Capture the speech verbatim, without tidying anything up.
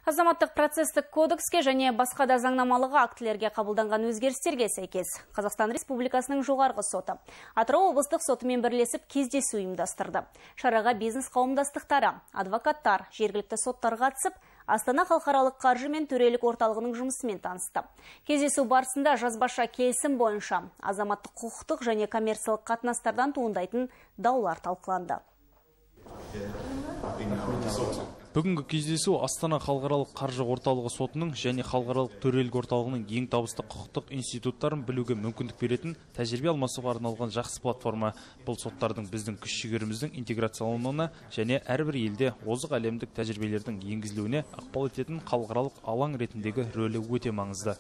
Азаматтық процесстік кодекске және басқа да заңнамалық актілерге қабылданған өзгерістерге сәйкес Қазақстан Республикасының жоғарғы соты Атырау облыстық сотымен бірлесіп кездесу ұйымдастырды. Шараға бизнес қауымдастықтары, адвокаттар, жергілікті соттар қатысып, Астана халықаралық қаржы мен төрелік орталығының жұмысымен танысты. Кездесу барысында жазбаша келісім бойынша азаматтық құқықтық және коммерциялық қатынастардан туындайтын даулар талқыланды. Бүгінгі кездесу Астана халықаралық қаржы орталығы сотының және халықаралық төрелік орталығының ең табысты құқықтық институттарын білуге мүмкіндік беретін тәжірибе алмасуға арналған жақсы платформа. Бұл соттардың біздің күш-жігеріміздің интеграциялануына және әрбір елде озық әлемдік тәжірибелердің енгізілуіне ықпал ететін халықаралық алаң ретіндегі рөлі өте маңызды.